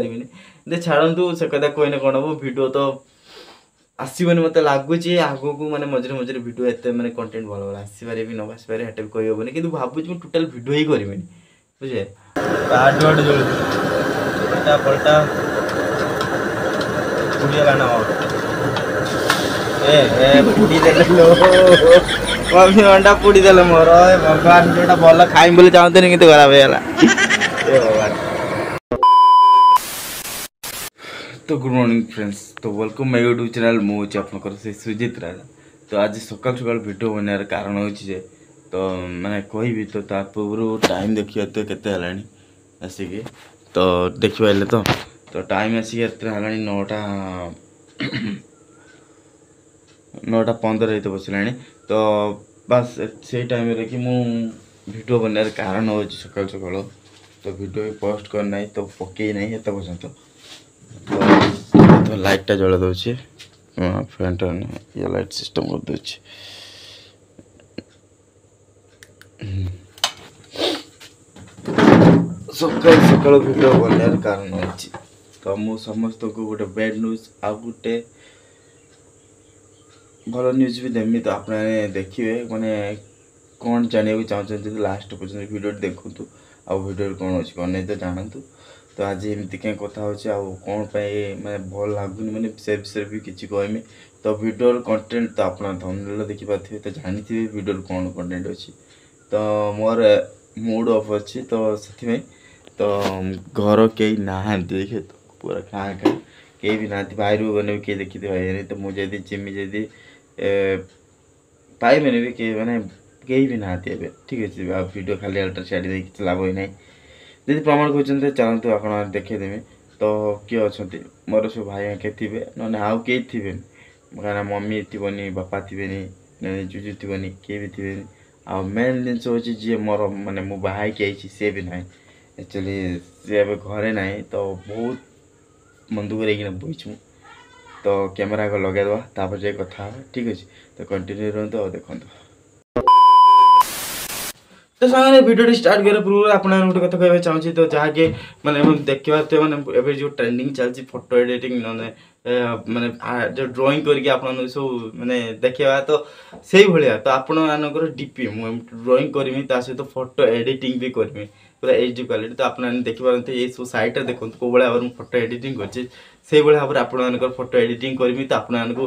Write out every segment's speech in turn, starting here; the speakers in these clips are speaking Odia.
କରିପାରିବିନି। ଯେ ଛାଡ଼ନ୍ତୁ, ସେ କଥା କହିଲେ କ'ଣ ହେବ? ଭିଡ଼ିଓ ତ ଆସିବନି ମୋତେ ଲାଗୁଛି ଆଗକୁ। ମାନେ ମଝିରେ ମଝିରେ ଭିଡ଼ିଓ ଏତେ ମାନେ କଣ୍ଟେଣ୍ଟ ଭଲ ଭଲ ଆସିପାରେ ବି, ନ ଆସିପାରେ, ସେଟା ବି କହିହେବନି। କିନ୍ତୁ ଭାବୁଛି ମୁଁ ଟୋଟାଲ୍ ଭିଡ଼ିଓ ହିଁ କରିବିନି, ବୁଝିଲେ? ଆଡୁ ଆଡୁ ଜଳୁଛି, ପଲଟା ପଲଟା ପୋଡ଼ିଗଲା ନା? ଏ ଏ ପୋଡ଼ି ଦେଲେ ଲୋ, ମମି, ଅଣ୍ଡା ପୋଡ଼ି ଦେଲେ ମୋର। ଏ ଭଗବାନ, ଯୋଉଟା ଭଲ ଖାଇମି ବୋଲି ଚାହୁଁଥିଲି କିନ୍ତୁ ଖରାପ ହେଇଗଲା। ଏ ଭଗବାନ। ତ ଗୁଡ୍ ମର୍ଣ୍ଣିଂ ଫ୍ରେଣ୍ଡସ୍, ତ welcome ମାଇ ୟୁଟ୍ୟୁବ୍ ଚ୍ୟାନେଲ୍। ମୁଁ ହେଉଛି ଆପଣଙ୍କର ସେ ସୁଜିତ ରାଜା। ତ ଆଜି ସକାଳୁ ସକାଳୁ ଭିଡ଼ିଓ ବନେଇବାର କାରଣ ହେଉଛି ଯେ, ତ ମାନେ କହିବି ତ ତା ପୂର୍ବରୁ ଟାଇମ୍ ଦେଖିବା ତ କେତେ ହେଲାଣି ଆସିକି। ତ ଦେଖିପାରିଲେ ତ? ତ ଟାଇମ୍ ଆସିକି ଏତେ ହେଲାଣି, 9:15 ହେଇତେ ବସିଲାଣି। ତ ବାସ୍, ସେଇ ଟାଇମ୍ରେ କି ମୁଁ ଭିଡ଼ିଓ ବନେଇବାର କାରଣ ହେଉଛି ସକାଳୁ ସକାଳୁ ତ ଭିଡ଼ିଓ ବି ପୋଷ୍ଟ କରିନାହିଁ, ତ ପକେଇ ନାହିଁ ଏତେ ପର୍ଯ୍ୟନ୍ତ। ତ ଲାଇଟ୍ଟା ଜଳେଇ ଦେଉଛି, ଫ୍ୟାନ୍ଟା ଇଏ ଲାଇଟ୍ ସିଷ୍ଟମ୍ କରିଦେଉଛି। ସକାଳୁ ସକାଳୁ ଭିଡ଼ିଓ ବନେଇବାର କାରଣ ଅଛି ତ ମୁଁ ସମସ୍ତଙ୍କୁ ଗୋଟେ ବ୍ୟାଡ୍ ନ୍ୟୁଜ୍ ଆଉ ଗୋଟେ ଭଲ ନ୍ୟୁଜ୍ ବି ଦେମି। ତ ଆପଣମାନେ ଦେଖିବେ, ମାନେ କ'ଣ ଜାଣିବାକୁ ଚାହୁଁଛନ୍ତି ଯଦି ଲାଷ୍ଟ ପର୍ଯ୍ୟନ୍ତ ଭିଡ଼ିଓଟି ଦେଖନ୍ତୁ, ଆଉ ଭିଡ଼ିଓରେ କ'ଣ ଅଛି କ'ଣ ନାହିଁ ତ ଜାଣନ୍ତୁ। ତ ଆଜି ଏମିତି କାହିଁ କଥା ହେଉଛି ଆଉ କ'ଣ ପାଇଁ ମାନେ ଭଲ ଲାଗୁନି, ମାନେ ସେ ବିଷୟରେ ବି କିଛି କହିମି। ତ ଭିଡ଼ିଓର କଣ୍ଟେଣ୍ଟ ତ ଆପଣ ଥମ୍ବନେଲ୍ ଦେଖିପାରୁଥିବେ, ତ ଜାଣିଥିବେ ଭିଡ଼ିଓର କ'ଣ କଣ୍ଟେଣ୍ଟ ଅଛି। ତ ମୋର ମୁଡ଼୍ ଅଫ୍ ଅଛି, ତ ସେଥିପାଇଁ। ତ ଘର କେହି ନାହାନ୍ତି, ଦେଖେ ତ ପୁରା ଖାଁ ଖାଁ, କେହି ବି ନାହାନ୍ତି। ବାହାରକୁ ଗଲେ ବି କେହି ଦେଖିତେ ପାଇବେନି। ତ ମୁଁ ଯଦି ଯିମି ଯଦି ପାଇବେନି ବି କେହି, ମାନେ କେହି ବି ନାହାନ୍ତି ଏବେ। ଠିକ୍ ଅଛି, ଆଉ ଭିଡ଼ିଓ ଖାଲି ଆଲଟା ଛାଡ଼ି ଦେଇ କିଛି ଲାଭ ହିଁ ନାହିଁ। ଯଦି ପ୍ରମାଣ କହୁଛନ୍ତି, ଚାଲନ୍ତୁ ଆପଣ ଦେଖେଇଦେବି। ତ କିଏ ଅଛନ୍ତି? ମୋର ସବୁ ଭାଇ ଆଙ୍କେ ଥିବେ, ନହେଲେ ଆଉ କେହି ଥିବେନି। କାହିଁକିନା ମମି ଥିବନି, ବାପା ଥିବେନି, ନହେଲେ ଜୁଜୁ ଥିବନି, କିଏ ବି ଥିବେନି। ଆଉ ମେନ୍ ଜିନିଷ ହେଉଛି ଯିଏ ମୋର ମାନେ ମୁଁ ବାହା ହେଇକି ଆଇଛି, ସିଏ ବି ନାହିଁ। ଆକ୍ଚୁଆଲି ସିଏ ଏବେ ଘରେ ନାହିଁ। ତ ବହୁତ ମନ ଦୁଃଖ ହେଇକିନା ବସିଛି ମୁଁ। ତ କ୍ୟାମେରା ଆଗ ଲଗେଇଦେବା, ତାପରେ ଯାଇ କଥା ହେବା। ଠିକ୍ ଅଛି, ତ କଣ୍ଟିନ୍ୟୁ ରୁହନ୍ତୁ ଆଉ ଦେଖନ୍ତୁ। ତ ସାଙ୍ଗରେ ଭିଡ଼ିଓଟି ଷ୍ଟାର୍ଟ କରିବା ପୂର୍ବରୁ ଆପଣମାନଙ୍କୁ ଗୋଟେ କଥା କହିବାକୁ ଚାହୁଁଛି। ତ ଯାହାକି ମାନେ ଦେଖିପାରୁଥିବେ, ମାନେ ଏବେ ଯେଉଁ ଟ୍ରେଣ୍ଡିଂ ଚାଲିଛି ଫଟୋ ଏଡ଼ିଟିଂ, ନହେଲେ ମାନେ ଯେଉଁ ଡ୍ରଇଂ କରିକି ଆପଣମାନଙ୍କୁ ସବୁ ମାନେ ଦେଖେଇବା, ତ ସେଇଭଳିଆ ତ ଆପଣମାନଙ୍କର ଡିପି ମୁଁ ଡ୍ରଇଂ କରିମି, ତା ସହିତ ଫଟୋ ଏଡ଼ିଟିଂ ବି କରିମି ପୁରା ଏଚ୍ ଡି କ୍ୱାଲିଟି। ତ ଆପଣମାନେ ଦେଖିପାରନ୍ତି, ଏଇ ସବୁ ସାଇଡ଼୍ରେ ଦେଖନ୍ତୁ କେଉଁ ଭଳିଆ ଭାବରେ ମୁଁ ଫଟୋ ଏଡ଼ିଟିଂ କରିଛି। ସେଇଭଳିଆ ଭାବରେ ଆପଣମାନଙ୍କର ଫଟୋ ଏଡ଼ିଟିଂ କରିମି, ତ ଆପଣମାନଙ୍କୁ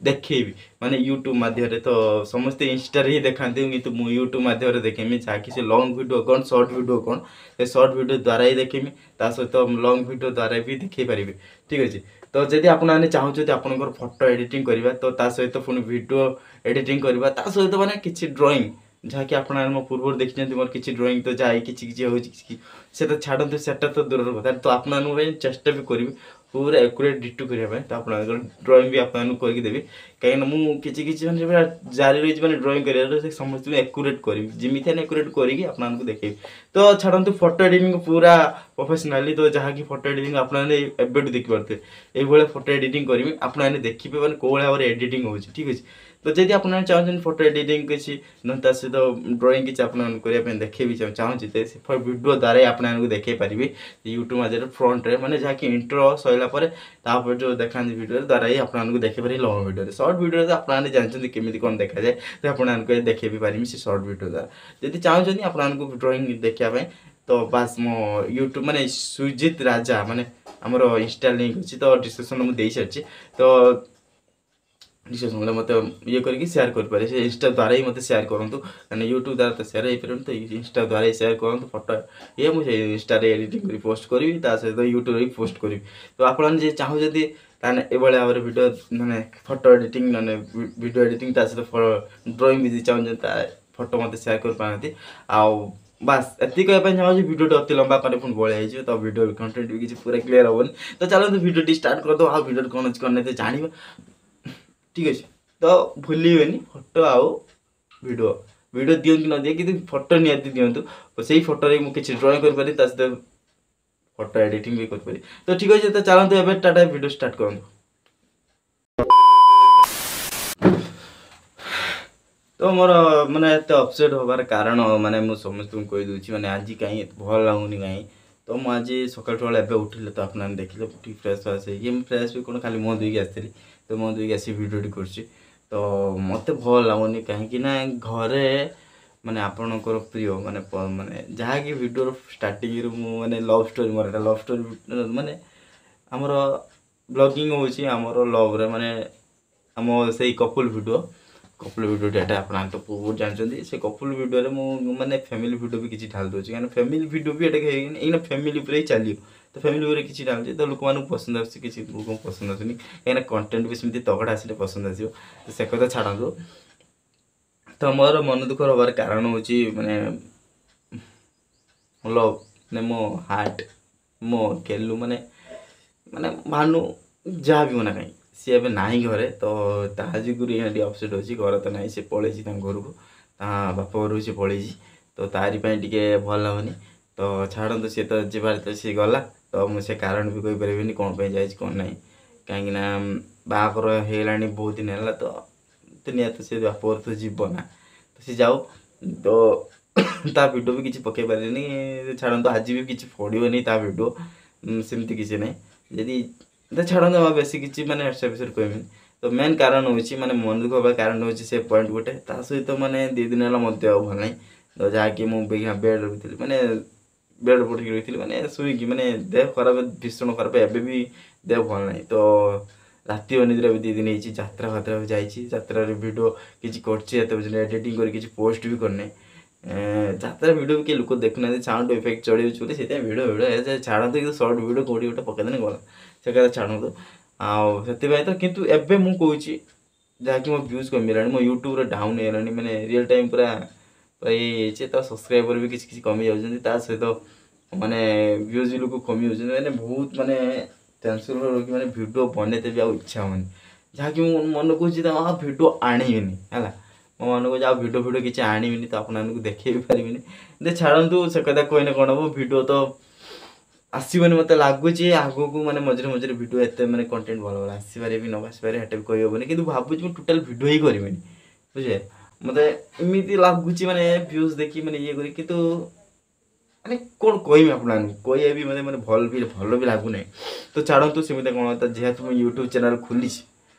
ଦେଖେଇବି ମାନେ ୟୁଟ୍ୟୁବ୍ ମାଧ୍ୟମରେ। ତ ସମସ୍ତେ ଇନଷ୍ଟାରେ ହିଁ ଦେଖାନ୍ତି, କିନ୍ତୁ ମୁଁ ୟୁଟ୍ୟୁବ୍ ମାଧ୍ୟମରେ ଦେଖେଇମି, ଯାହାକି ସେ ଲଙ୍ଗ୍ ଭିଡ଼ିଓ କ'ଣ, ସର୍ଟ ଭିଡ଼ିଓ କ'ଣ, ସେ ସର୍ଟ ଭିଡ଼ିଓ ଦ୍ୱାରା ହିଁ ଦେଖେଇମି, ତା ସହିତ ଲଙ୍ଗ୍ ଭିଡ଼ିଓ ଦ୍ୱାରା ବି ଦେଖେଇ ପାରିବି। ଠିକ୍ ଅଛି, ତ ଯଦି ଆପଣମାନେ ଚାହୁଁଛନ୍ତି ଆପଣଙ୍କର ଫଟୋ ଏଡ଼ିଟିଂ କରିବା, ତ ତା ସହିତ ପୁଣି ଭିଡ଼ିଓ ଏଡ଼ିଟିଂ କରିବା, ତା ସହିତ ମାନେ କିଛି ଡ୍ରଇଂ, ଯାହାକି ଆପଣମାନେ ମୋ ପୂର୍ବରୁ ଦେଖିଛନ୍ତି ମୋର କିଛି ଡ୍ରଇଂ, ତ ଯାଇ କିଛି କିଛି ହେଉଛି କିଛି, ସେଟା ଛାଡ଼ନ୍ତୁ, ସେଟା ତ ଦୂରର କଥା। ତ ଆପଣମାନଙ୍କ ପାଇଁ ଚେଷ୍ଟା ବି କରିବି ପୁରା ଆକୁରେଟ୍ ଡିଟୋ କରିବା ପାଇଁ। ତ ଆପଣଙ୍କର ଡ୍ରଇଂ ବି ଆପଣମାନଙ୍କୁ କରିକି ଦେବି, କାହିଁକିନା ମୁଁ କିଛି କିଛି ମାନେ ପୁରା ଜାରି ରହିଛି ମାନେ ଡ୍ରଇଂ କରିବାର, ସେ ସମସ୍ତଙ୍କୁ ଆକୁରେଟ୍ କରିବି, ଯେମିତି ହେଲେ ଆକୁରେଟ୍ କରିକି ଆପଣମାନଙ୍କୁ ଦେଖେଇବି। ତ ଛାଡ଼ନ୍ତୁ, ଫଟୋ ଏଡ଼ିଟିଂ ପୁରା ପ୍ରଫେସନାଲି, ତ ଯାହାକି ଫଟୋ ଏଡ଼ିଟିଂ ଆପଣମାନେ ଏବେଠୁ ଦେଖିପାରୁଥିବେ। ଏଇଭଳିଆ ଫଟୋ ଏଡ଼ିଟିଂ କରିବି, ଆପଣମାନେ ଦେଖିବେ ମାନେ କେଉଁ ଭଳିଆ ଭାବରେ ଏଡ଼ିଟିଂ ହେଉଛି। ଠିକ୍ ଅଛି, ତ ଯଦି ଆପଣମାନେ ଚାହୁଁଛନ୍ତି ଫଟୋ ଏଡ଼ିଟିଂ କିଛି, ନହେଲେ ତା ସହିତ ଡ୍ରଇଂ କିଛି ଆପଣମାନଙ୍କୁ କରିବା ପାଇଁ ଦେଖେଇବି ଚାହୁଁଛି, ତ ସେ ଭିଡ଼ିଓ ଦ୍ୱାରା ହିଁ ଆପଣମାନଙ୍କୁ ଦେଖେଇ ପାରିବି ୟୁଟ୍ୟୁବ୍ ମାଧ୍ୟମରେ ଫ୍ରଣ୍ଟରେ, ମାନେ ଯାହାକି ଇଣ୍ଟ୍ରୋ ସରିଲା ପରେ ତାପରେ ଯେଉଁ ଦେଖାନ୍ତି ଭିଡ଼ିଓ ଦ୍ୱାରା ହିଁ ଆପଣମାନଙ୍କୁ ଦେଖେଇ ପାରିବି ଲଙ୍ଗ୍ ଭିଡ଼ିଓରେ। ସର୍ଟ ଭିଡ଼ିଓରେ ତ ଆପଣମାନେ ଜାଣିଛନ୍ତି କେମିତି କ'ଣ ଦେଖାଯାଏ, ତ ଆପଣମାନଙ୍କୁ ଦେଖେଇ ବି ପାରିବି ସେ ସର୍ଟ ଭିଡ଼ିଓ ଦ୍ୱାରା। ଯଦି ଚାହୁଁଛନ୍ତି ଆପଣମାନଙ୍କୁ ଡ୍ରଇଂ ଦେଖିବା ପାଇଁ, ତ ବାସ୍ ମୋ ୟୁଟ୍ୟୁବ୍ ମାନେ ସୁଜିତ ରାଜା, ମାନେ ଆମର ଇନଷ୍ଟା ଲିଙ୍କ୍ ଅଛି, ତ ଡିସ୍କ୍ରିପ୍ସନ୍ରେ ମୁଁ ଦେଇସାରିଛି। ତ ଡିସ୍କ୍ରିପ୍ସନ୍ରେ ମୋତେ ଇଏ କରିକି ସେୟାର କରିପାରିବେ, ସେ ଇନଷ୍ଟା ଦ୍ୱାରା ହିଁ ମୋତେ ସେୟାର କରନ୍ତୁ, କାହିଁକିନା ୟୁଟ୍ୟୁବ୍ ଦ୍ୱାରା ତ ସେୟାର ହେଇପାରିବନି। ତ ଇନଷ୍ଟା ଦ୍ୱାରା ହିଁ ସେୟାର କରନ୍ତୁ ଫଟୋ ଇଏ, ମୁଁ ସେଇ ଇନଷ୍ଟାରେ ଏଡ଼ିଟିଂ କରି ପୋଷ୍ଟ କରିବି, ତା ସହିତ ୟୁଟ୍ୟୁବରେ ବି ପୋଷ୍ଟ କରିବି। ତ ଆପଣମାନେ ଯିଏ ଚାହୁଁଛନ୍ତି, ତାହେଲେ ଏଭଳିଆ ଭାବରେ ଭିଡ଼ିଓ ମାନେ ଫଟୋ ଏଡ଼ିଟିଂ, ନହେଲେ ଭିଡ଼ିଓ ଏଡ଼ିଟିଂ, ତା ସହିତ ଡ୍ରଇଂ ବି ଯଦି ଚାହୁଁଛନ୍ତି, ତା ଫଟୋ ମୋତେ ସେୟାର କରିପାରନ୍ତି। ଆଉ ବାସ୍ ଏତିକି କହିବା ପାଇଁ ଚାହୁଁଛି। ଭିଡ଼ିଓଟି ଅତି ଲମ୍ବା କଲେ ପୁଣି ବଳିଆ ହେଇଯିବ, ତ ଭିଡ଼ିଓ କଣ୍ଟେଣ୍ଟ ବି କିଛି ପୁରା କ୍ଲିୟର ହେବନି। ତ ଚାଲନ୍ତୁ ଭିଡ଼ିଓଟି ଷ୍ଟାର୍ଟ କରିଦେବ, ଆଉ ଭିଡ଼ିଓରେ କ'ଣ ଅଛି କ'ଣ ନାହିଁ ତ ଜାଣିବା। ଠିକ୍ ଅଛି, ତ ଭୁଲିବେନି ଫଟୋ ଆଉ ଭିଡ଼ିଓ। ଭିଡ଼ିଓ ଦିଅନ୍ତୁ କି ନ ଦିଅ, କିନ୍ତୁ ଫଟୋ ନିହାତି ଦିଅନ୍ତୁ। ସେଇ ଫଟୋରେ ମୁଁ କିଛି ଡ୍ରଇଂ କରିପାରିବି, ତା ସହିତ ଫଟୋ ଏଡ଼ିଟିଂ ବି କରିପାରିବି। ତ ଠିକ୍ ଅଛି, ତ ଚାଲନ୍ତୁ ଏବେ ଟାଟା, ଭିଡ଼ିଓ ଷ୍ଟାର୍ଟ କରନ୍ତୁ। ତ ମୋର ମାନେ ଏତେ ଅପସେଟ୍ ହେବାର କାରଣ ମାନେ ମୁଁ ସମସ୍ତଙ୍କୁ କହିଦେଉଛି, ମାନେ ଆଜି କାହିଁ ଏତେ ଭଲ ଲାଗୁନି କାହିଁ, ତ ମୁଁ ଆଜି ସକାଳୁ ସକାଳୁ ଏବେ ଉଠିଲେ, ତ ଆପଣମାନେ ଦେଖିଲେ, ଉଠିକି ଫ୍ରେଶ୍ ଫ୍ରେଶ୍ ହେଇକି, ମୁଁ ଫ୍ରେଶ୍ ବି କ'ଣ, ଖାଲି ମୁହଁ ଧୋଇକି ଆସିଥିଲି। ତ ମୁହଁ ଧୋଇକି ଆସିକି ଭିଡ଼ିଓଟି କରୁଛି। ତ ମୋତେ ଭଲ ଲାଗୁନି, କାହିଁକି ନା ଘରେ ମାନେ ଆପଣଙ୍କର ପ୍ରିୟ ମାନେ ମାନେ ଯାହାକି ଭିଡ଼ିଓର ଷ୍ଟାର୍ଟିଂରୁ ମୁଁ ମାନେ ଲଭ୍ ଷ୍ଟୋରି, ମୋର ଏଇଟା ଲଭ୍ ଷ୍ଟୋରି, ମାନେ ଆମର ବ୍ଲଗିଂ ହେଉଛି ଆମର ଲଭ୍ରେ, ମାନେ ଆମ ସେଇ କପୁଲ୍ ଭିଡ଼ିଓ। କପୁଲ୍ ଭିଡ଼ିଓଟା ଏଇଟା ଆପଣ ତ ବହୁତ ଜାଣିଛନ୍ତି। ସେ କପୁଲ୍ ଭିଡ଼ିଓରେ ମୁଁ ମାନେ ଫ୍ୟାମିଲି ଭିଡ଼ିଓ ବି କିଛି ଢାଳି ଦେଉଛି, କାହିଁକିନା ଫ୍ୟାମିଲି ଭିଡ଼ିଓ ବି ଏଇଟା ହେଇନି, ଏଇନା ଫ୍ୟାମିଲି ଉପରେ ହିଁ ଚାଲିବ। ତ ଫ୍ୟାମିଲି ଉପରେ କିଛି ଢାଳୁଛି ତ ଲୋକମାନଙ୍କୁ ପସନ୍ଦ ଆସୁଛି, କିଛି ଲୋକଙ୍କୁ ପସନ୍ଦ ଆସୁନି, କାହିଁକିନା କଣ୍ଟେଣ୍ଟ ବି ସେମିତି ତଗଡ଼ା ଆସିଲେ ପସନ୍ଦ ଆସିବ। ତ ସେ କଥା ଛାଡ଼ନ୍ତୁ। ତ ମୋର ମନ ଦୁଃଖ ହେବାର କାରଣ ହେଉଛି ମାନେ ଲଭ୍, ମାନେ ମୋ ହାର୍ଟ, ମୋ ଗେଲୁ, ମାନେ ମାନେ ଭାନୁ, ଯାହା ବି ମନା କାହିଁ, ସିଏ ଏବେ ନାହିଁ ଘରେ। ତ ତା ଯୋଗୁରୁ ଏଇନା ଟିକେ ଅପସେଟ୍ ଅଛି। ଘରେ ତ ନାହିଁ, ସେ ପଳେଇଛି ତାଙ୍କ ଘରକୁ, ତା ବାପ ଘରକୁ ସେ ପଳେଇଛି। ତ ତାରି ପାଇଁ ଟିକେ ଭଲ ଲାଗୁନି। ତ ଛାଡ଼ନ୍ତୁ, ସିଏ ତ ଯିବାର ତ ସିଏ ଗଲା। ତ ମୁଁ ସେ କାରଣ ବି କହିପାରିବିନି କ'ଣ ପାଇଁ ଯାଇଛି କ'ଣ ନାହିଁ, କାହିଁକିନା ବାହାଘର ହେଇଗଲାଣି ବହୁତ ଦିନ ହେଲା। ତ ନିହାତି ସେ ବାପ ଘର ତ ଯିବ ନା, ତ ସେ ଯାଉ। ତ ତା ଭିଡ଼ିଓ ବି କିଛି ପକେଇ ପାରିଲିନି, ଛାଡ଼ନ୍ତୁ। ଆଜି ବି କିଛି ପଡ଼ିବନି ତା ଭିଡ଼ିଓ, ସେମିତି କିଛି ନାହିଁ। ଯଦି ତ ଛାଡ଼ନ୍ତୁ, ଆଉ ବେଶୀ କିଛି ମାନେ ସେ ବିଷୟରେ କହିବିନି। ତ ମେନ୍ କାରଣ ହେଉଛି, ମାନେ ମନ ଦୁଃଖ ହେବା କାରଣ ହେଉଛି ସେ ପଏଣ୍ଟ ଗୋଟେ। ତା ସହିତ ମାନେ 2 ଦିନ ହେଲା ମୋ ଦେହ ଭଲ ନାହିଁ। ତ ଯାହାକି ମୁଁ ବେଡ଼୍ ରହିଥିଲି, ମାନେ ବେଡ଼୍ ପଡ଼ିକି ରହିଥିଲି, ମାନେ ଶୋଇକି, ମାନେ ଦେହ ଖରାପ, ଭୀଷଣ ଖରାପ। ଏବେ ବି ଦେହ ଭଲ ନାହିଁ। ତ ରାତି ଅନିଦ୍ରା ବି 2 ଦିନ ହେଇଛି। ଯାତ୍ରା ଫାତ୍ରା ବି ଯାଇଛି, ଯାତ୍ରାରେ ଭିଡ଼ିଓ କିଛି କରିଛି, ଏତେ ପର୍ଯ୍ୟନ୍ତ ଏଡ଼ିଟିଂ କରି କିଛି ପୋଷ୍ଟ ବି କରିନାହିଁ। ଯାତ୍ରା ଭିଡ଼ିଓ ବି କେହି ଲୋକ ଦେଖୁନାହାନ୍ତି, ସାଉଣ୍ଡ ଇଫେକ୍ଟ ଚଢ଼ିଯାଉଛି ବୋଲି ସେଥିପାଇଁ ଭିଡ଼ିଓ ଭିଡ଼ିଓ ଛାଡ଼ନ୍ତୁ। କିନ୍ତୁ ସର୍ଟ ଭିଡ଼ିଓ କେଉଁଠି ଗୋଟେ ପକେଇଦେଲେ ଗଲା, ସେ କଥା ଛାଡ଼ନ୍ତୁ। ଆଉ ସେଥିପାଇଁ ତ କିନ୍ତୁ ଏବେ ମୁଁ କହୁଛି, ଯାହାକି ମୋ ଭ୍ୟୁଜ୍ କମିଗଲାଣି, ମୋ ୟୁଟ୍ୟୁବରେ ଡାଉନ୍ ହେଇଗଲାଣି, ମାନେ ରିଅଲ୍ ଟାଇମ୍ ପୁରା ପୁରା ଇଏ ହେଇଯାଇଛି। ତ ସବସ୍କ୍ରାଇବର୍ ବି କିଛି କିଛି କମି ଯାଉଛନ୍ତି, ତା ସହିତ ମାନେ ଭ୍ୟୁଜ୍ ବି ଲୋକ କମି ଯାଉଛନ୍ତି। ମାନେ ବହୁତ ମାନେ ଟେନସନ୍ ରହିକି ମାନେ ଭିଡ଼ିଓ ବନେଇତେ ବି ଆଉ ଇଚ୍ଛା ହେଉନି। ଯାହାକି ମୁଁ ମନ କହୁଛି ତ ଆଉ ଭିଡ଼ିଓ ଆଣିବିନି, ହେଲା ମୋ ମନ କହୁଛି ଆଉ ଭିଡ଼ିଓ ଫିଡ଼ିଓ କିଛି ଆଣିବିନି, ତ ଆପଣମାନଙ୍କୁ ଦେଖେଇ ବି ପାରିବିନି। ଯେ ଛାଡ଼ନ୍ତୁ, ସେ କଥା କହିଲେ କ'ଣ ହେବ? ଭିଡ଼ିଓ ତ ଆସିବନି ମୋତେ ଲାଗୁଛି ଆଗକୁ। ମାନେ ମଝିରେ ମଝିରେ ଭିଡ଼ିଓ ଏତେ ମାନେ କଣ୍ଟେଣ୍ଟ ଭଲ ଭଲ ଆସିପାରେ ବି, ନ ଆସିପାରେ, ସେଟା ବି କହିହେବନି। କିନ୍ତୁ ଭାବୁଛି ମୁଁ ଟୋଟାଲ୍ ଭିଡ଼ିଓ ହିଁ କରିବିନି, ବୁଝିଲେ? ମୋତେ ଏମିତି ଲାଗୁଛି, ମାନେ ଭ୍ୟୁଜ୍ ଦେଖି ମାନେ ଇଏ କରି, କିନ୍ତୁ ମାନେ କ'ଣ କହିବି ଆପଣମାନଙ୍କୁ, କହିବା ବି ମାନେ ମାନେ ଭଲ ବି ଭଲ ବି ଲାଗୁନାହିଁ। ତ ଛାଡ଼ନ୍ତୁ, ସେମିତି କ'ଣ, ତ ଯେହେତୁ ମୁଁ ୟୁଟ୍ୟୁବ୍ ଚ୍ୟାନେଲ୍ ଖୋଲିଛି,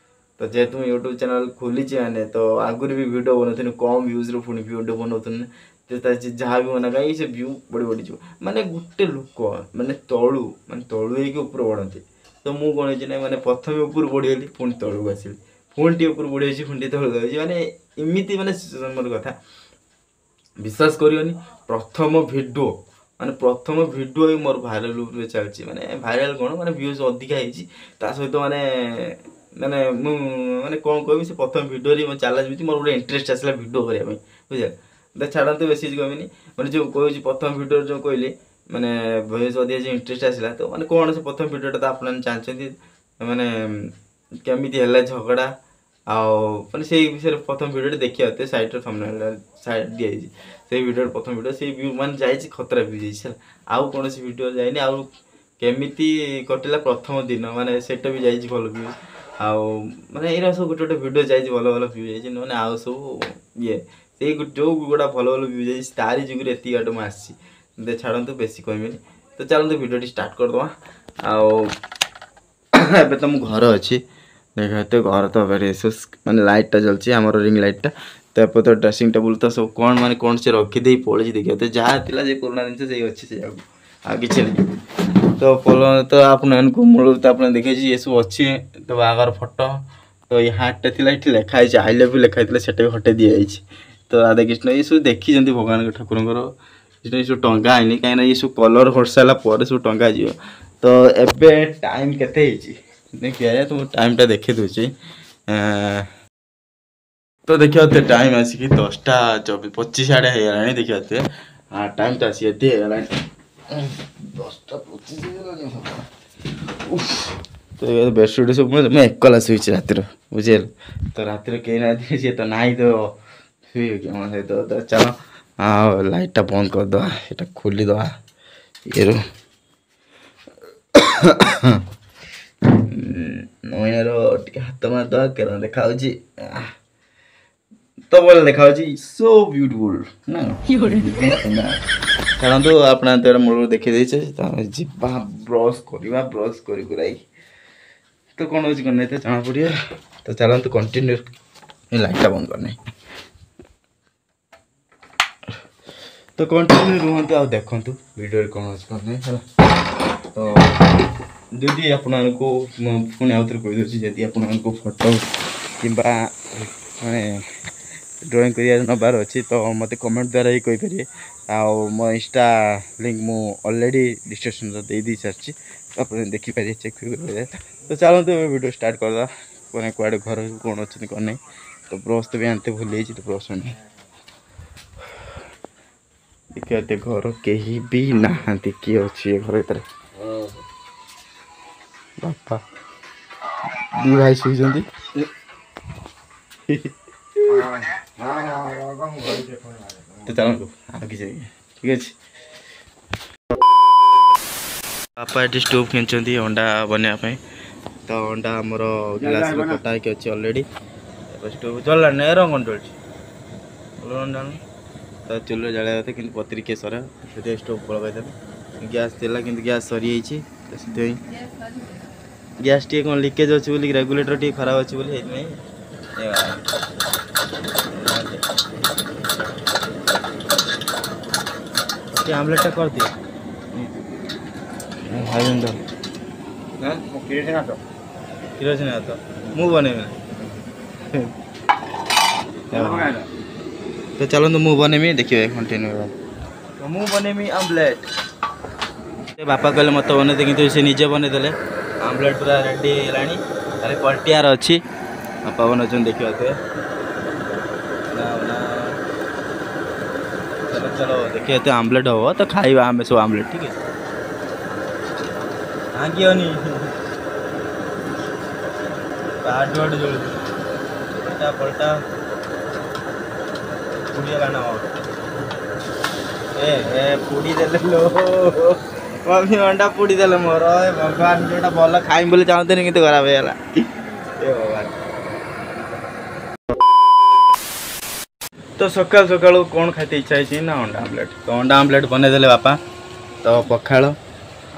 ତ ଯେହେତୁ ମୁଁ ୟୁଟ୍ୟୁବ୍ ଚ୍ୟାନେଲ୍ ଖୋଲିଛି, ମାନେ ତ ଆଗରୁ ବି ଭିଡ଼ିଓ ବନାଉଥିଲି, କମ୍ ଭ୍ୟୁଜ୍ରୁ ପୁଣି ଭିଡ଼ିଓ ବନାଉଥିଲି। ତ ଯାହା ବି ମନା କାହିଁକି ସେ ଭ୍ୟୁ ବଢ଼ି ବଢ଼ିଯିବ। ମାନେ ଗୋଟେ ଲୋକ ମାନେ ତଳୁ, ମାନେ ତଳୁ ହେଇକି ଉପରୁ ବଢ଼ନ୍ତି। ତ ମୁଁ କ'ଣ ହେଇଛି ନା, ମାନେ ପ୍ରଥମେ ଉପରୁ ବଢ଼ିଗଲି, ପୁଣି ତଳକୁ ଆସିଲି, ପୁଣି ଟିକେ ଉପରୁ ବଢ଼ିଯାଇଛି, ପୁଣି ଟିକେ ତଳକୁ ଯାଇଛି, ମାନେ ଏମିତି ମାନେ ମୋର କଥା ବିଶ୍ୱାସ କରିବନି। ପ୍ରଥମ ଭିଡ଼ିଓ, ମାନେ ପ୍ରଥମ ଭିଡ଼ିଓ ହିଁ ମୋର ଭାଇରାଲ୍ ଉପରେ ଚାଲିଛି। ମାନେ ଭାଇରାଲ୍ କ'ଣ, ମାନେ ଭ୍ୟୁଜ୍ ଅଧିକା ହେଇଛି। ତା ସହିତ ମାନେ ମାନେ ମୁଁ ମାନେ କ'ଣ କହିବି, ସେ ପ୍ରଥମ ଭିଡ଼ିଓରେ ମୋ ଚ୍ୟାଲେଞ୍ଜ ବି ମୋର ଗୋଟେ ଇଣ୍ଟରେଷ୍ଟ ଆସିଲା ଭିଡ଼ିଓ କରିବା ପାଇଁ, ବୁଝିଲେ? ତ ଛାଡ଼ନ୍ତୁ, ବେଶୀ କିଛି କହିବିନି। ମାନେ ଯେଉଁ କହୁଛି ପ୍ରଥମ ଭିଡ଼ିଓରେ ଯେଉଁ କହିଲି, ମାନେ ଭ୍ୟୁଜ୍ ଅଧିକା ଯେଉଁ ଇଣ୍ଟରେଷ୍ଟ ଆସିଲା, ତ ମାନେ କ'ଣ ସେ ପ୍ରଥମ ଭିଡ଼ିଓଟା ତ ଆପଣମାନେ ଜାଣିଛନ୍ତି, ମାନେ କେମିତି ହେଲା ଝଗଡ଼ା, ଆଉ ମାନେ ସେଇ ବିଷୟରେ ପ୍ରଥମ ଭିଡ଼ିଓଟି ଦେଖିବା। ତ ସାଇଡ଼୍ରେ ଥମ୍ବନେଲ୍ ସାଇଡ଼୍ ଦିଆଯାଇଛି ସେଇ ଭିଡ଼ିଓର ପ୍ରଥମ ଭିଡ଼ିଓ, ସେଇ ଭ୍ୟୁ ମାନେ ଯାଇଛି, ଖତରା ଭ୍ୟୁ ଯାଇଛି ହେଲା। ଆଉ କୌଣସି ଭିଡ଼ିଓ ଯାଇନି। ଆଉ କେମିତି କଟିଲା ପ୍ରଥମ ଦିନ, ମାନେ ସେଇଟା ବି ଯାଇଛି ଭଲ ଭ୍ୟୁଜ୍। ଆଉ ମାନେ ଏଇରା ସବୁ ଗୋଟେ ଗୋଟେ ଭିଡ଼ିଓ ଯାଇଛି, ଭଲ ଭଲ ଭ୍ୟୁ ଯାଇଛି। ମାନେ ଆଉ ସବୁ ଇଏ ସେଇ ଯେଉଁ ଗୁଡ଼ା ଭଲ ଭଲ ଭ୍ୟୁ ଯାଇଛି, ତାରି ଯୋଗୁରୁ ଏତିକି ବାଟ ମୁଁ ଆସିଛି। ଛାଡ଼ନ୍ତୁ, ବେଶୀ କହିବିନି। ତ ଚାଲନ୍ତୁ ଭିଡ଼ିଓଟି ଷ୍ଟାର୍ଟ କରିଦେବା। ଆଉ ଏବେ ତ ମୁଁ ଘର ଅଛି, ଦେଖ ଏତେ ଘର ତ ମାନେ ଲାଇଟ୍ଟା ଜଳୁଛି, ଆମର ରିଙ୍ଗ ଲାଇଟ୍ଟା। ତ ଏପଟେ ତ ଡ୍ରେସିଂ ଟେବୁଲ୍ ତ ସବୁ କ'ଣ ମାନେ କ'ଣ ସେ ରଖିଦେଇ ପଳେଇଛି। ଦେଖିବା ତ ଯାହା ଥିଲା ଯେ ପୁରୁଣା ଜିନିଷ ସେଇ ଅଛି, ସେଇଆକୁ ଆଉ କିଛି ନାହିଁ। ତ ତ ଆପଣମାନଙ୍କୁ ମୂଳରୁ ତ ଆପଣ ଦେଖେଇଛି, ଏସବୁ ଅଛି। ତ ବାହାଘର ଫଟୋ, ତ ଏଇ ହାର୍ଟଟା ଥିଲା, ଏଠି ଲେଖା ହେଇଛି I love you ଲେଖା ହେଇଥିଲା, ସେଟା ବି ହଟେଇ ଦିଆଯାଇଛି। ତ ରାଧାକୃଷ୍ଣ ଏସବୁ ଦେଖିଛନ୍ତି, ଭଗବାନଙ୍କ ଠାକୁରଙ୍କର ଏସବୁ ଟଙ୍ଗା ହେଇନି, କାହିଁକିନା ଏସବୁ କଲର୍ ସାରିଲା ପରେ ସବୁ ଟଙ୍ଗା ଯିବ। ତ ଏବେ ଟାଇମ୍ କେତେ ହେଇଛି ଦେଖିବା, ତ ମୁଁ ଟାଇମ୍ଟା ଦେଖେଇ ଦେଉଛି। ତ ଦେଖିବା ତ ଟାଇମ୍ ଆସିକି 10ଟା 25 ଆଡ଼େ ହେଇଗଲାଣି। ଦେଖିବା ଟାଇମ୍ ତ ଆସିକି ଏତେ ହେଇଗଲାଣି, 10ଟା 25 ହେଇଗଲାଣି। ତ ବେଡ଼ସିଟ୍ ସବୁ ମୁଁ ଏକଲା ଶୋଇଛି ରାତିର, ବୁଝିହେଲା? ତ ରାତିରେ କେହି ନାହାନ୍ତି, ସିଏ ତ ନାହିଁ, ତ ଶୋଇବ କି ଆମ ସହିତ? ତ ଚାଲ, ଆଉ ଲାଇଟ୍ଟା ବନ୍ଦ କରିଦେବା, ଏଇଟା ଖୋଲିଦେବା। ଇଏରୁ ନଇନାର ଟିକେ ହାତ ମାରିଦେବା, କେରଣ ଦେଖାଯାଉଛି ତ ଭଲ ଦେଖାଯାଉଛି, ସୋ ବ୍ୟୁଟିଫୁଲ୍ ନା? ଛାଡ଼ନ୍ତୁ, ଆପଣ ତ ମୂଳରୁ ଦେଖେଇ ଦେଇଛେ। ତ ଆମେ ଯିବା ବ୍ରସ୍ କରିବା, ବ୍ରସ୍ କରି କୁରାଇ ତ କ'ଣ ହେଉଛି କ'ଣ ନାହିଁ ତ ଜଣାପଡ଼ିବ। ତ ଚାଲନ୍ତୁ କଣ୍ଟିନ୍ୟୁ। ଲାଇଟ୍ଟା ବନ୍ଦ କରିନାହିଁ। ତ କଣ୍ଟିନ୍ୟୁ ରୁହନ୍ତୁ ଆଉ ଦେଖନ୍ତୁ ଭିଡ଼ିଓରେ କ'ଣ ଅଛି କ'ଣ ନାହିଁ, ହେଲା। ତ ଯଦି ଆପଣମାନଙ୍କୁ ମୁଁ ପୁଣି ଆଉ ଥରେ କହିଦେଉଛି, ଯଦି ଆପଣମାନଙ୍କୁ ଫଟୋ କିମ୍ବା ମାନେ ଡ୍ରଇଂ କରିବାର ନେବାର ଅଛି ତ ମୋତେ କମେଣ୍ଟ ଦ୍ୱାରା ହିଁ କହିପାରିବେ। ଆଉ ମୋ ଇନଷ୍ଟା ଲିଙ୍କ୍ ମୁଁ ଅଲରେଡ଼ି ଡିସ୍କ୍ରିପ୍ସନ୍ରେ ଦେଇ ସାରିଛି, ଆପଣ ଦେଖିପାରିବେ, ଚେକ୍ କରିପାରିବେ। ତ ଚାଲନ୍ତୁ ଏବେ ଭିଡ଼ିଓ ଷ୍ଟାର୍ଟ କରିଦେବା। ମାନେ କୁଆଡ଼େ ଘର କ'ଣ ଅଛନ୍ତି କ'ଣ ନାହିଁ। ତ ବ୍ରସ୍ ତ ବି ଆଣିତେ ଭୁଲି ଯାଇଛି, ତ ବ୍ରସ୍ ଆଣି ଦେଖିବା। ଏତେ ଘର କେହି ବି ନାହାନ୍ତି, କିଏ ଅଛି ଏ ଘର ଭିତରେ? ବାପା ଦି ଭାଇ ଶୋଇଛନ୍ତି। ତ ଚାଲନ୍ତୁ ଆଉ କିଛି ଠିକ୍ ଅଛି। ବାପା ଏଠି ଷ୍ଟୋଭ୍ କିଣିଛନ୍ତି ଅଣ୍ଡା ବନେଇବା ପାଇଁ। ତ ଅଣ୍ଡା ଆମର ଗ୍ଲାସ୍ରେ କଟା ହେଇକି ଅଛି ଅଲରେଡ଼ି। ଷ୍ଟୋଭ୍ ଜଳିଲାଣି ନା? ଏ ରଙ୍ଗ କ'ଣ ଜଳୁଛି? ଅଣ୍ଡା ତ ଚୁଲିରେ ଜାଳିବା କଥା, କିନ୍ତୁ ପତ୍ରି କିଏ ସରେ, ସେଥିପାଇଁ ଷ୍ଟୋଭ୍ ଲଗାଇଦେଲେ। ଗ୍ୟାସ୍ ଥିଲା କିନ୍ତୁ ଗ୍ୟାସ୍ ସରିଯାଇଛି, ତ ସେଥିପାଇଁ ଗ୍ୟାସ୍ ଟିକେ କ'ଣ ଲିକେଜ୍ ଅଛି ବୋଲି, ରେଗୁଲେଟର୍ ଟିକେ ଖରାପ ଅଛି ବୋଲି ସେଇଥିପାଇଁ। ଟିକେ ଆମ୍ଲେଟ୍ଟା କରିଦିଅ ଭାଇ। କିରୋସିନ ଭାତ ମୁଁ ବନେଇବି। ତ ଚାଲନ୍ତୁ ମୁଁ ବନେଇବି, ଦେଖିବେ କଣ୍ଟିନ୍ୟୁ। ତ ମୁଁ ବନେଇବି ଆମ୍ଲେଟ୍। ବାପା କହିଲେ ମୋତେ ବନେଇଦେ, କିନ୍ତୁ ସେ ନିଜେ ବନେଇଦେଲେ। ଆମ୍ଲେଟ୍ ପୁରା ରେଡ଼ି ହେଇଗଲାଣି, ତାହେଲେ ପଲଟିଆର ଅଛି। ବାପା ବନାଉଛନ୍ତି, ଦେଖିପାରୁଥିବେ। ଚलो ଚलो, ଦେଖିବା ଏତେ ଆମ୍ଲେଟ୍ ହବ ତ ଖାଇବା ଆମେ ସବୁ ଆମ୍ଲେଟ୍। ଠିକ୍ ଅଛି, ଭାଙ୍ଗିବନି। ଆଡୁ ଆଡୁ ଜଳୁଛି। ପଲଟା ପଲଟା, ପୋଡ଼ିଗଲା ନା? ଏ ଏ ପୋଡ଼ି ଦେଲେ ଲୋ ମମି, ଅଣ୍ଡା ପୋଡ଼ି ଦେଲେ ମୋର। ଏ ଭଗବାନ, ଯୋଉଟା ଭଲ ଖାଇମି ବୋଲି ଚାହୁଁଥିଲି କିନ୍ତୁ ଖରାପ ହେଇଗଲା। ଏ ଭଗବାନ। ତ ସକାଳୁ ସକାଳୁ କ'ଣ ଖାଇତେ ଇଚ୍ଛା ହେଇଛି ନା ଅଣ୍ଡା ଆମ୍ଲେଟ୍। ତ ଅଣ୍ଡା ଆମ୍ଲେଟ୍ ବନେଇଦେଲେ ବାପା। ତ ପଖାଳ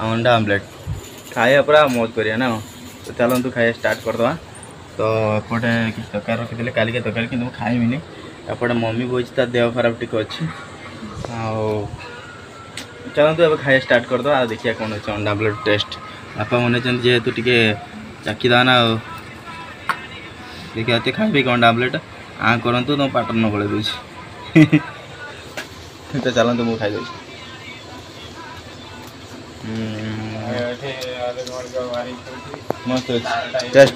ଆଉ ଅଣ୍ଡା ଆମ୍ଲେଟ୍ ଖାଇବା ପୁରା ମୌଜ କରିବା ନା। ତ ଚାଲନ୍ତୁ ଖାଇବା ଷ୍ଟାର୍ଟ କରିଦେବା। ତ ଏପଟେ କିଛି ତରକାରୀ ରଖିଥିଲେ କାଲିକା ତରକାରୀ, କିନ୍ତୁ ମୁଁ ଖାଇମିନି। ଏପଟେ ମମି ବହିଛି, ତା ଦେହ ଖରାପ ଟିକେ ଅଛି। ଆଉ ଚାଲନ୍ତୁ ଏବେ ଖାଇବା ଷ୍ଟାର୍ଟ କରିଦେବା ଆଉ ଦେଖିବା କ'ଣ ଅଛି ଅଣ୍ଡା ଆମ୍ଲେଟ୍ ଟେଷ୍ଟ। ବାପା ବନେଇଛନ୍ତି ଯେହେତୁ ଟିକେ ଚାଖିଦେବା ନା। ଆଉ ଦେଖିବା ଏତେ ଖାଇବେ କି ଅଣ୍ଡା ଆମ୍ଲେଟ୍। ଆଁ କରନ୍ତୁ, ତୁମ ପାଟର ନ ଗଳେଇ ଦେଉଛି। ତ ଚାଲନ୍ତୁ ମୁଁ ଖାଇଦେଉଛି। ମସ୍ତ ଅଛି ଟେଷ୍ଟ।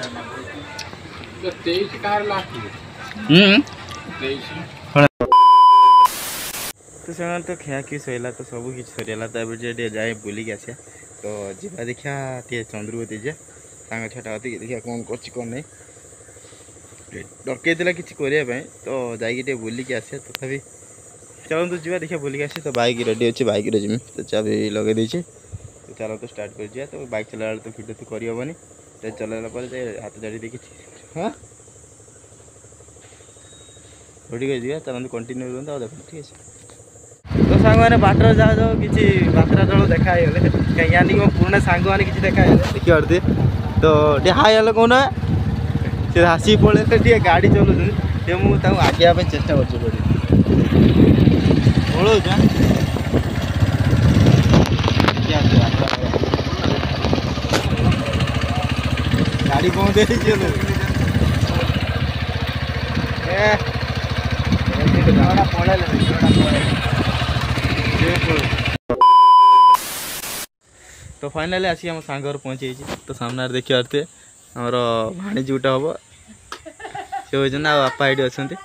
ତ ସେମାନେ ତ ଖିଆଖିଇ ସରିଲା, ତ ସବୁ କିଛି ସରିଗଲା। ତ ଏବେ ଟିକେ ଯାଇ ବୁଲିକି ଆସିବା। ତ ଯିବା ଦେଖିବା ଟିକେ ଚନ୍ଦ୍ରବତୀ ଯିବା, ସାଙ୍ଗ ଛୁଆଟା କତିକି, ଦେଖିବା କ'ଣ କରୁଛି କ'ଣ ନାହିଁ। ଡକେଇଥିଲା କିଛି କରିବା ପାଇଁ, ତ ଯାଇକି ଟିକେ ବୁଲିକି ଆସିବା। ତଥାପି ଚାଲନ୍ତୁ ଯିବା ଦେଖିବା ବୁଲିକି ଆସିବା। ତ ବାଇକ୍ ରେଡ଼ି ଅଛି, ବାଇକ୍ରେ ଯିମି। ତ ଚାବି ଲଗେଇ ଦେଇଛି, ତ ଚାଲନ୍ତୁ ଷ୍ଟାର୍ଟ କରିଯିବା। ତ ବାଇକ୍ ଚଲାଇଲା ବେଳେ ତ ଭିଡ଼ିଓ ତ କରିହେବନି, ତ ଚଲାଇଲା ପରେ ଯାଇ ହାତ ଜାଡ଼ି ଦେଇକି ହଁ ଠିକ୍ ଅଛି, ଯିବା। ଚାଲନ୍ତୁ କଣ୍ଟିନ୍ୟୁ ରୁହନ୍ତୁ ଆଉ ଦେଖନ୍ତୁ, ଠିକ୍ ଅଛି। ତ ସାଙ୍ଗମାନେ ବାଟରେ ଯାଉ ଯାଉ କିଛି ବାତ୍ରା ଜଳ ଦେଖା ହେଇଗଲେ, କାହିଁକି ଆଣିକି ମୋ ପୁରୁଣା ସାଙ୍ଗମାନେ କିଛି ଦେଖା ହେଇଗଲେ, ଦେଖିପାରୁଥିବେ। ତ ଟିକେ ହାଇ ହେଲେ କହୁନ, ସେ ଆସିକି ପଳେଇଲେ। ଟିକେ ଗାଡ଼ି ଚଲାଉଛନ୍ତି ଟିକେ, ମୁଁ ତାଙ୍କୁ ଆଗେଇବା ପାଇଁ ଚେଷ୍ଟା କରୁଛି। ପଡ଼ି ପଳଉଛି। ଗାଡ଼ି ବନ୍ଦ ହେଇଛି। ପଳେଇଲେ। ତ ଫାଇନାଲି ଆସିକି ଆମ ସାଙ୍ଗ ଘରେ ପହଞ୍ଚି ଯାଇଛି। ତ ସାମ୍ନାରେ ଦେଖିପାରୁଥିବେ ଆମର ଭାଣିଜୀ ଗୋଟେ ହେବ, ସେ ହେଉଛନ୍ତି, ଆଉ ବାପା ଏଇଠି ଅଛନ୍ତି।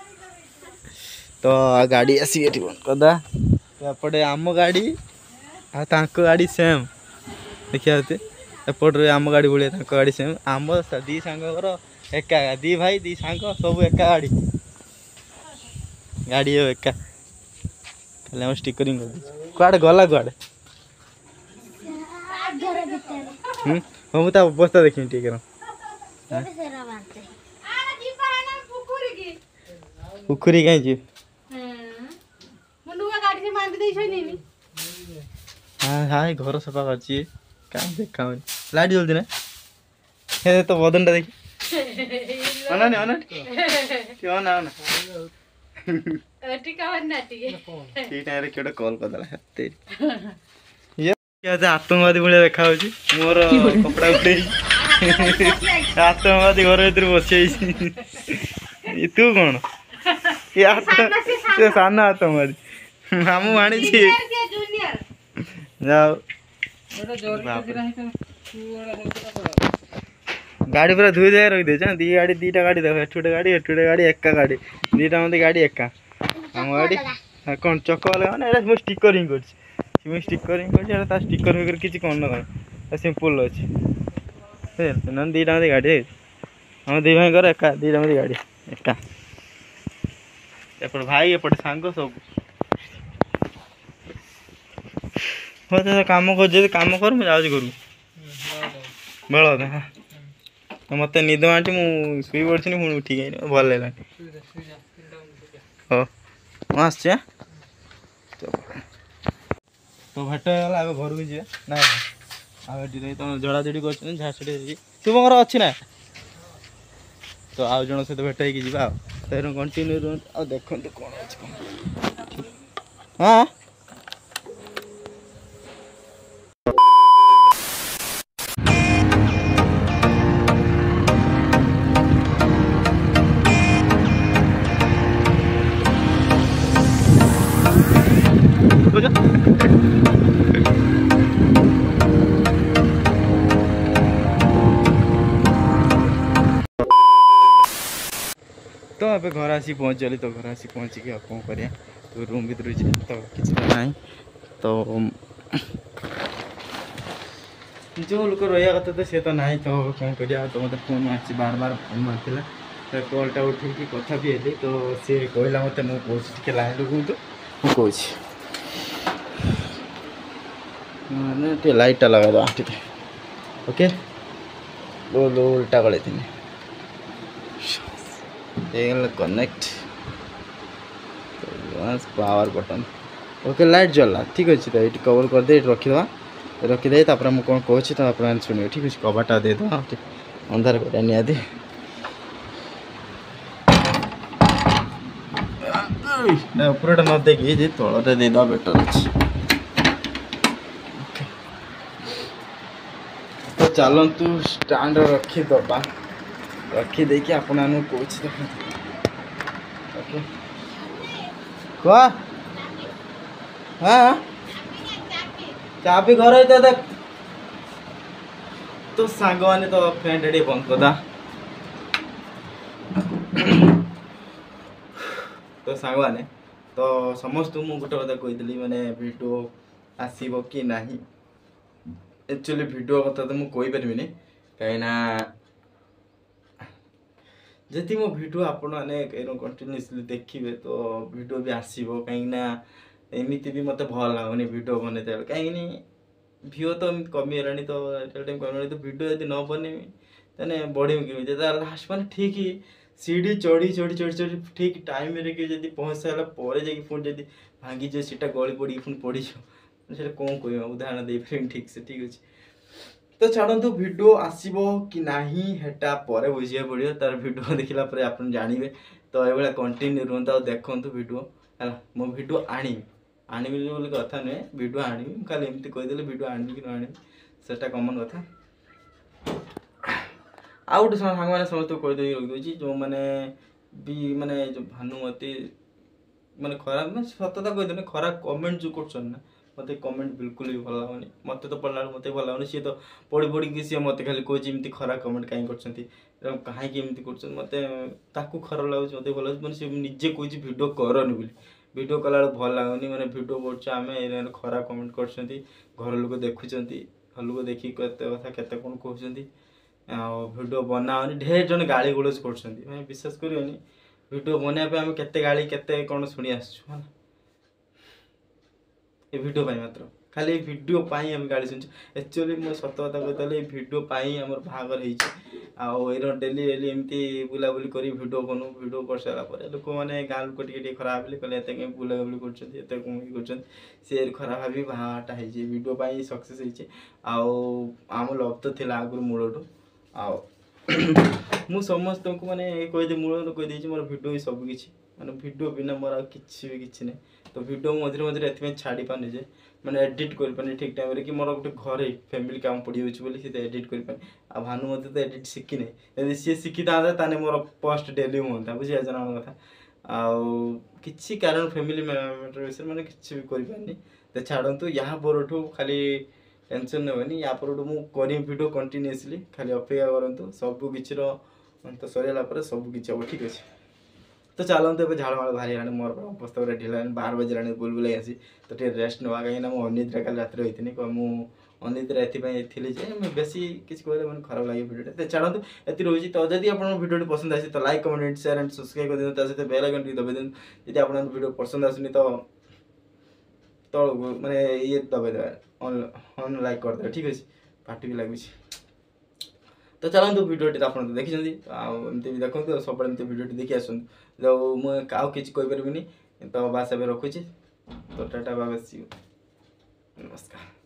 ତ ଗାଡ଼ି ଆସିକି ଏଠି ବନ୍ଦ କରିଦେବା। ତ ଏପଟେ ଆମ ଗାଡ଼ି ଆଉ ତାଙ୍କ ଗାଡ଼ି ସେମ୍, ଦେଖିପାରୁଥିବେ। ଏପଟରେ ଆମ ଗାଡ଼ି ଭଳିଆ ତାଙ୍କ ଗାଡ଼ି ସେମ୍। ଆମ ଦି ସାଙ୍ଗଙ୍କର ଏକା, ଦି ଭାଇ ଦି ସାଙ୍ଗ ସବୁ ଏକା ଗାଡ଼ି, ଗାଡ଼ି ଏକା, ଖାଲି ଆମ ଷ୍ଟିକରିଂ କରିଦେଇଛୁ। କୁଆଡ଼େ ଗଲା କୁଆଡ଼େ? ହଁ, ମୁଁ ତା ଅବସ୍ଥା ଦେଖିନି ଟିକେ। ପୋଖରୀ କାହିଁ ଯିବି? ହାଏ ଘର ସଫା କରୁଛି, କାହିଁ ଦେଖାଉନି, ଲାଇଟ୍ ଜଳୁଛି ନା? ହେ ତ ବଦନଟା ଦେଖି, ଅନାନି ଅନା ଅନା ଅନା। ଠିକ ଟାଇମରେ କିଏ ଗୋଟେ କଲ୍ କରିଦେଲା। ଇଏ ଆତଙ୍କବାଦୀ ଭଳିଆ ଦେଖାଯାଉଛି, ମୋର କପଡ଼ା ଉଠେଇ ଆତଙ୍କବାଦୀ ଘର ଭିତରେ ବସିଯାଇଛି। ତୁ କଣ ସେ ସାନ ଆତଙ୍କବାଦୀ, ମାମୁଁ ଆଣିଛି। ଯାଉ ଗାଡ଼ି ପୁରା ଧୋଇ ଜାଗା ରଖିଦେଇଛ। ଦି ଗାଡ଼ି, ଦିଟା ଗାଡ଼ି ଦେଖ, ଏଠି ଗୋଟେ ଗାଡ଼ି, ଏଠି ଗୋଟେ ଗାଡ଼ି, ଏକା ଗାଡ଼ି, ଦିଟା ମୋତେ ଗାଡ଼ି ଏକା। ଆମ ଗାଡ଼ି କ'ଣ ଚକ ଅଲଗା? ମାନେ ଏଇଟା ମୁଁ ଷ୍ଟିକରିଂ କରିଛି, ମୁଁ ଷ୍ଟିକରିଂ କରିଛି ଏଇଟା। ତା ଷ୍ଟିକର ଫିକର କିଛି କ'ଣ ନା କ'ଣ ସିମ୍ପଲ୍ ଅଛି, ନହେଲେ ଦିଟା ମୋତେ ଗାଡ଼ି ଆମ ଦି ଭାଇଙ୍କର ଏକା, ଦିଟା ମୋତେ ଗାଡ଼ି ଏକା। ଏପଟେ ଭାଇ, ଏପଟେ ସାଙ୍ଗ ସବୁ। ହଉ କାମ କରୁଛି, ଯଦି କାମ କର, ମୁଁ ଯାଉଛି ଘରକୁ। ବେଳ ମୋତେ ନିଦ ମାଡୁଛି, ମୁଁ ଶୋଇ ପଡ଼ିଥିଲି, ପୁଣି ଉଠିକି ଆଇଲି, ଭଲ ଲାଗିଲାନି। ହଉ ମୁଁ ଆସୁଛି। ତ ଭେଟ ହେଇଗଲା, ଏବେ ଘରକୁ ଯିବା ନା? ଆଉ ଏଠି ତମ ଝଡ଼ାଝଡ଼ି କରୁଛନ୍ତି, ଝାଡ଼ଝଡ଼ି ହେଇଛି। ଶୁଭଙ୍କର ଅଛି ନା? ତ ଆଉ ଜଣଙ୍କ ସହିତ ଭେଟ ହେଇକି ଯିବା। ଆଉ ତେଣୁ କଣ୍ଟିନ୍ୟୁ ରୁହନ୍ତୁ ଆଉ ଦେଖନ୍ତୁ କ'ଣ ଅଛି କ'ଣ। ହଁ ତ ଏବେ ଘରେ ଆସିକି ପହଞ୍ଚିଗଲି। ତ ଘରେ ଆସିକି ପହଞ୍ଚିକି ଆଉ କ'ଣ କରିବା? ତ ରୁମ୍ ଭିତରକୁ ଯିବା ତ କିଛି ତ ନାହିଁ। ତ ଯେଉଁ ଲୋକ ରହିବା କଥା ତ ସେ ତ ନାହିଁ, ତ କ'ଣ କରିବା? ତ ମୋତେ ଫୋନ୍ ମାରିଛି, ବାର ବାର ଫୋନ୍ ମାରିଥିଲା। ତ କଲ୍ଟା ଉଠେଇକି କଥା ବି ହେଲି। ତ ସିଏ କହିଲା ମୋତେ, ମୁଁ କହୁଛି ଟିକେ ଲାଇନ୍ ରୁହନ୍ତୁ, ମୁଁ କହୁଛି। ମାନେ ଟିକେ ଲାଇଟ୍ଟା ଲଗାଇଦେବା ଟିକେ। ଓକେ, ଉଲ୍ଟା ଗଳେଇଥିଲି, ହେଇଗଲା connect, power button. Okay, light ଜଳିଲା, ଠିକ୍ ଅଛି। ତ ଏଇଠି କଭର୍ କରିଦେଇ ଏଇଠି ରଖିଦେବା, ରଖିଦେଇ ତାପରେ ମୁଁ କ'ଣ କହୁଛି ତ ଆପଣମାନେ ଶୁଣିବେ। ଠିକ୍ ଅଛି, କବାଟଟା ଦେଇଦେବା, ଅନ୍ଧାର କରିବା ନିହାତି। ନା, ଉପରଟା ନ ଦେଇକି ଯେ ତଳଟା ଦେଇଦେବା ବେଟର୍ ଅଛି। ତ ଚାଲନ୍ତୁ ଷ୍ଟାଣ୍ଡ ରଖିଦେବା, ରଖିଦେଇକି ଆପଣମାନଙ୍କୁ କହୁଛି, ଦେଖନ୍ତୁ। ଓକେ, କୁହ। ହଁ, ଚାବି ଘରେ ଦେଖ। ତ ସାଙ୍ଗମାନେ, ତ ଫ୍ୟାନ୍ଟା ଟିକେ ବନ୍ଦ କରିଦବା। ତ ସାଙ୍ଗମାନେ, ତ ସମସ୍ତଙ୍କୁ ମୁଁ ଗୋଟେ କଥା କହିଥିଲି, ମାନେ ଭିଡ଼ିଓ ଆସିବ କି ନାହିଁ। ଆକ୍ଚୁଆଲି ଭିଡ଼ିଓ କଥା ତ ମୁଁ କହିପାରିବିନି, କାହିଁକିନା ଯଦି ମୋ ଭିଡ଼ିଓ ଆପଣମାନେ କଣ୍ଟିନ୍ୟୁଅସଲି ଦେଖିବେ ତ ଭିଡ଼ିଓ ବି ଆସିବ। କାହିଁକିନା ଏମିତି ବି ମୋତେ ଭଲ ଲାଗୁନି ଭିଡ଼ିଓ ବନେଇତେ, କାହିଁକିନି ଭିଓ ତ ଏମିତି କମିଗଲାଣି, ତ ଟାଇମ୍ କମିଗଲାଣି। ତ ଭିଡ଼ିଓ ଯଦି ନ ବନେଇବି ତାହେଲେ ବଢ଼ିବି କେମିତି? ତା ଲାଷ୍ଟ ମାନେ ଠିକ୍ ସିଢ଼ି ଚଢ଼ି ଚଢ଼ି ଚଢ଼ି ଚଢ଼ି ଠିକ୍ ଟାଇମ୍ରେ କି ଯଦି ପହଞ୍ଚି ସାରିଲା ପରେ ଯାଇକି ପୁଣି ଯଦି ଭାଙ୍ଗିଯିବ, ସେଇଟା ଗଳି ପଡ଼ିକି ପୁଣି ପଡ଼ିଯିବ, ସେଇଟା କ'ଣ କହିବ? ଉଦାହରଣ ଦେଇପାରିବିନି ଠିକ୍ ସେ। ଠିକ୍ ଅଛି, ତ ଛାଡ଼ନ୍ତୁ, ଭିଡ଼ିଓ ଆସିବ କି ନାହିଁ ହେଟା ପରେ ବୁଝିବାକୁ ପଡ଼ିବ। ତାର ଭିଡ଼ିଓ ଦେଖିଲା ପରେ ଆପଣ ଜାଣିବେ। ତ ଏଇଭଳିଆ କଣ୍ଟିନ୍ୟୁ ରୁହନ୍ତୁ ଆଉ ଦେଖନ୍ତୁ ଭିଡ଼ିଓ। ହେଲା, ମୁଁ ଭିଡ଼ିଓ ଆଣିବି, ଆଣିବି ବୋଲି କଥା ନୁହେଁ, ଭିଡ଼ିଓ ଆଣିବି। ମୁଁ ଖାଲି ଏମିତି କହିଦେଲେ, ଭିଡ଼ିଓ ଆଣିବି କି ନ ଆଣିବି ସେଟା କମନ୍ କଥା। ଆଉ ଗୋଟେ ସାଙ୍ଗମାନେ ସମସ୍ତଙ୍କୁ କହିଦେଇକି ରଖିଦେଉଛି, ଯେଉଁମାନେ ବି ମାନେ ଯେଉଁ ଭାନୁମତି ମାନେ ଖରାପ, ମାନେ ସତତା କହିଦେଲେ, ଖରାପ କମେଣ୍ଟ ଯେଉଁ କରୁଛନ୍ତି ନା, ମୋତେ କମେଣ୍ଟ ବିଲକୁଲ ବି ଭଲ ଲାଗୁନି। ମୋତେ ତ ପଢ଼ିଲା ବେଳକୁ ମୋତେ ଭଲ ଲାଗୁନି। ସିଏ ତ ପଢ଼ି ପଢ଼ିକି ସିଏ ମୋତେ ଖାଲି କହୁଛି ଏମିତି ଖରାପ କମେଣ୍ଟ କାହିଁ କରୁଛନ୍ତି, କାହିଁକି ଏମିତି କରୁଛନ୍ତି। ମୋତେ ତାକୁ ଖରାପ ଲାଗୁଛି, ମୋତେ ଭଲ ଲାଗୁଛି। ମାନେ ସେ ନିଜେ କହୁଛି ଭିଡ଼ିଓ କରନି ବୋଲି, ଭିଡ଼ିଓ କଲାବେଳକୁ ଭଲ ଲାଗୁନି। ମାନେ ଭିଡ଼ିଓ କରୁଛୁ ଆମେ, ଖରାପ କମେଣ୍ଟ କରୁଛନ୍ତି, ଘର ଲୋକ ଦେଖୁଛନ୍ତି, ଘର ଲୋକ ଦେଖିକି କେତେ କଥା କେତେ କ'ଣ କହୁଛନ୍ତି, ଆଉ ଭିଡ଼ିଓ ବନାଅନି। ଢେର ଜଣ ଗାଳି ଗୁଲଜ କରୁଛନ୍ତି। ମାନେ ବିଶ୍ୱାସ କରିବନି, ଭିଡ଼ିଓ ବନେଇବା ପାଇଁ ଆମେ କେତେ ଗାଳି କେତେ କ'ଣ ଶୁଣି ଆସିଛୁ। ହେଲା, ଏ ଭିଡ଼ିଓ ପାଇଁ, ମାତ୍ର ଖାଲି ଏ ଭିଡ଼ିଓ ପାଇଁ ଆମେ ଗାଳି ଶୁଣିଛୁ। ଆକ୍ଚୁଆଲି ମୁଁ ସତ କଥା କହିଲେ ଏଇ ଭିଡ଼ିଓ ପାଇଁ ଆମର ବାହାଘର ହେଇଛି। ଆଉ ଏଇର ଡେଲି ଡେଲି ଏମିତି ବୁଲାବୁଲି କରି ଭିଡ଼ିଓ ବନଉ। ଭିଡ଼ିଓ କରିସାରିଲା ପରେ ଲୋକମାନେ, ଗାଁ ଲୋକ ଟିକେ ଟିକେ ଖରାପ ଭାବିଲେ, କହିଲେ ଏତେ କାଇଁ ବୁଲାବୁଲି କରୁଛନ୍ତି, ଏତେ କଣ ଇଏ କରୁଛନ୍ତି। ସେ ଖରାପ ଭାବି ବାହାଟା ହେଇଛି, ଭିଡ଼ିଓ ପାଇଁ ସକ୍ସେସ୍ ହେଇଛି। ଆଉ ଆମ ଲଭ୍ ତ ଥିଲା ଆଗରୁ ମୂଳଠୁ। ଆଉ ମୁଁ ସମସ୍ତଙ୍କୁ ମାନେ କହିଦେ, ମୂଳରୁ କହିଦେଇଛି, ମୋର ଭିଡ଼ିଓ ହିଁ ସବୁ କିଛି। ମାନେ ଭିଡ଼ିଓ ବିନା ମୋର ଆଉ କିଛି ବି କିଛି ନାହିଁ। ତ ଭିଡ଼ିଓ ମୁଁ ମଝିରେ ମଝିରେ ଏଥିପାଇଁ ଛାଡ଼ି ପାରୁନି ଯେ ମାନେ ଏଡ଼ିଟ୍ କରିପାରୁନି ଠିକ୍ ଟାଇମ୍ରେ, କି ମୋର ଗୋଟେ ଘରେ ଫ୍ୟାମିଲି କାମ ପଡ଼ିଯାଉଛି ବୋଲି ସେ ଏଡ଼ିଟ୍ କରିପାରୁନି। ଆଉ ଭାନୁ ମଧ୍ୟ ତ ଏଡ଼ିଟ୍ ଶିଖିନି। ଯଦି ସିଏ ଶିଖିଥାନ୍ତା, ତାହେଲେ ମୋର ପୋଷ୍ଟ ଡେଲି ହୁଅନ୍ତା। ବୁଝିପାରୁଛ ନା ଆମ କଥା? ଆଉ କିଛି କାରଣ ଫ୍ୟାମିଲି ମ୍ୟାଟର୍ ବିଷୟରେ ମାନେ କିଛି ବି କରିପାରୁନି। ତ ଛାଡ଼ନ୍ତୁ, ୟା ପରଠୁ ଖାଲି ଟେନସନ୍ ନେବେନି, ୟା ପରଠୁ ମୁଁ କରିବି ଭିଡ଼ିଓ କଣ୍ଟିନ୍ୟୁଅସଲି। ଖାଲି ଅପେକ୍ଷା କରନ୍ତୁ, ସବୁ କିଛିର ତ ସରିଗଲା ପରେ ସବୁ କିଛି ହେବ, ଠିକ୍ ଅଛି। ତ ଚାଲନ୍ତୁ, ଏବେ ଝାଳ ମାଳ ବାହାରିଗଲାଣି ମୋର, ଅବସ୍ଥା ପୁରା ଢିଲା ହେଲାଣି। 12 ବାଜିଲାଣି ବୁଲବୁଲାଇ ଆସି, ତ ଟିକେ ରେଷ୍ଟ ନେବା, କାହିଁକିନା ମୁଁ ଅନିଦ୍ରା କାଲି ରାତିରେ ହୋଇଥିଲି। ମୁଁ ଅନିଦ୍ରା ଏଥିପାଇଁ ଥିଲି ଯେ ମୁଁ ବେଶୀ କିଛି କହିଲେ ମାନେ ଖରାପ ଲାଗେ ଭିଡ଼ିଓଟା। ତ ଛାଡ଼ନ୍ତୁ, ଏତିକି ରହୁଛି। ତ ଯଦି ଆପଣଙ୍କ ଭିଡ଼ିଓଟି ପସନ୍ଦ ଆସିଛି, ତ like, comment, share and subscribe କରିଦିଅନ୍ତୁ। ତା ସହିତ ବେଲ୍ ଆଇକନ୍ ଟିକେ ଦବାଇ ଦିଅନ୍ତୁ। ଯଦି ଆପଣଙ୍କ ଭିଡ଼ିଓ ପସନ୍ଦ ଆସୁନି, ତ ତଳକୁ ମାନେ ଇଏ ଦବାଇ ଦେବେ, ଅନ୍ ଲାଇକ୍ କରିଦେବେ, ଠିକ୍ ଅଛି। ପାଟି ବି ଲାଗୁଛି। ତ ଚାଲନ୍ତୁ, ଭିଡ଼ିଓଟି ତ ଆପଣ ତ ଦେଖିଛନ୍ତି, ଆଉ ଏମିତି ବି ଦେଖନ୍ତୁ, ଆଉ ସବୁବେଳେ ଏମିତି ଭିଡ଼ିଓଟି ଦେଖି ଆସନ୍ତୁ। ତ ମୁଁ ଆଉ କିଛି କହିପାରିବିନି, ତ ବାସ୍ ଏବେ ରଖୁଛି। ତ ଟାଟା, ବାବା, ସି, ନମସ୍କାର।